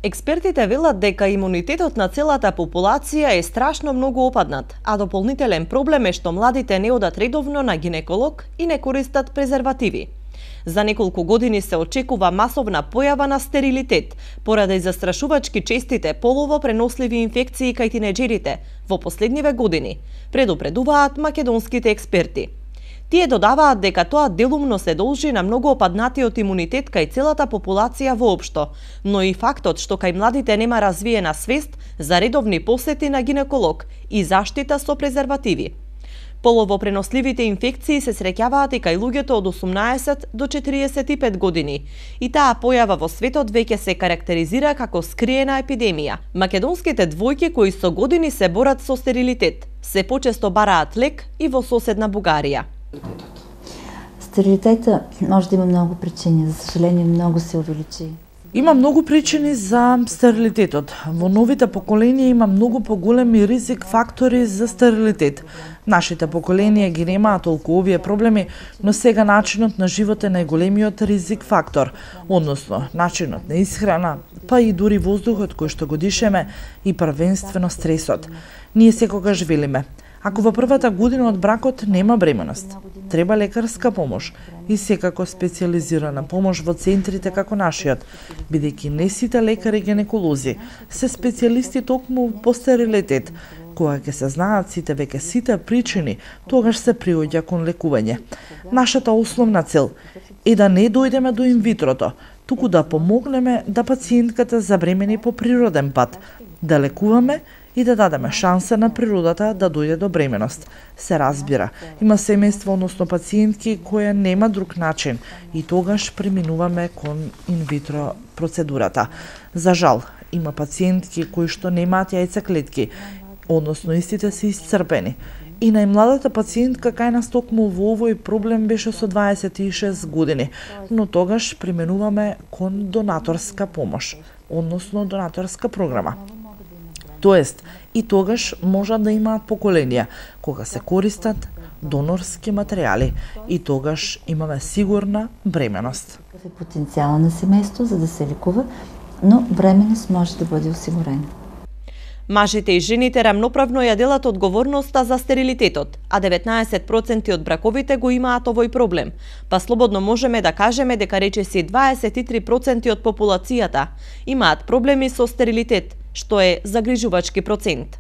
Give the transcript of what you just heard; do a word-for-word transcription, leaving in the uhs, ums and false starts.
Експертите велат дека имунитетот на целата популација е страшно многу опаднат, а дополнителен проблем е што младите не одат редовно на гинеколог и не користат презервативи. За неколку години се очекува масовна појава на стерилитет, поради застрашувачки честите полово преносливи инфекции кај тинеџерите во последниве години, предупредуваат македонските експерти. Тие додаваат дека тоа делумно се должи на многу опаднатиот имунитет кај целата популација воопшто, но и фактот што кај младите нема развиена свест за редовни посети на гинеколог и заштита со презервативи. Полово преносливите инфекции се среќаваат и кај луѓето од осумнаесет до четириесет и пет години, и таа појава во светот веќе се карактеризира како скриена епидемија. Македонските двојки кои со години се борат со стерилитет, се почесто бараат лек и во соседна Бугарија. Стерилитета може да има много причини, за съжаление много се увеличи. Има многу причини за стерилитетот. Во новите поколенија има многу поголеми ризик фактори за стерилитет. Нашите поколенија ги немаат толку овие проблеми, но сега начинот на живот е најголемиот ризик фактор, односно начинот на исхрана, па и дури воздухот кој што го дишеме и првенствено стресот. Ние секогаш велиме: ако во првата година од бракот нема бременост, треба лекарска помош и секако специализирана помош во центрите како нашиот, бидејќи не сите лекари гинеколози се специјалисти токму по стерилитет. Кога ќе се знаат сите веќе сите причини, тогаш се приоѓа кон лекување. Нашата основна цел е да не дојдеме до инвитрото, туку да помогнеме да пациентката забремени по природен пат, да лекуваме и да дадеме шанса на природата да дојде до бременост. Се разбира, има семејство, односно пациентки кои нема друг начин и тогаш преминуваме кон инвитро процедурата. За жал, има пациентки кои што немаат јајцеклетки, односно истите се исцрпени. И најмладата пациентка кај нас токму во овој проблем беше со дваесет и шест години, но тогаш преминуваме кон донаторска помош, односно донаторска програма. Тоест, и тогаш можат да имаат поколенија кога се користат донорски материјали и тогаш имаме сигурна бременост. Какъв е потенцијалот на семејство за да се лекува, но бременост може да бъде осигурена. Мажите и жените рамноправно ја делат одговорноста за стерилитетот, а деветнаесет проценти од браковите го имаат овој проблем, па слободно можеме да кажеме дека речиси дваесет и три проценти од популацијата имаат проблеми со стерилитет, што е загрижувачки процент.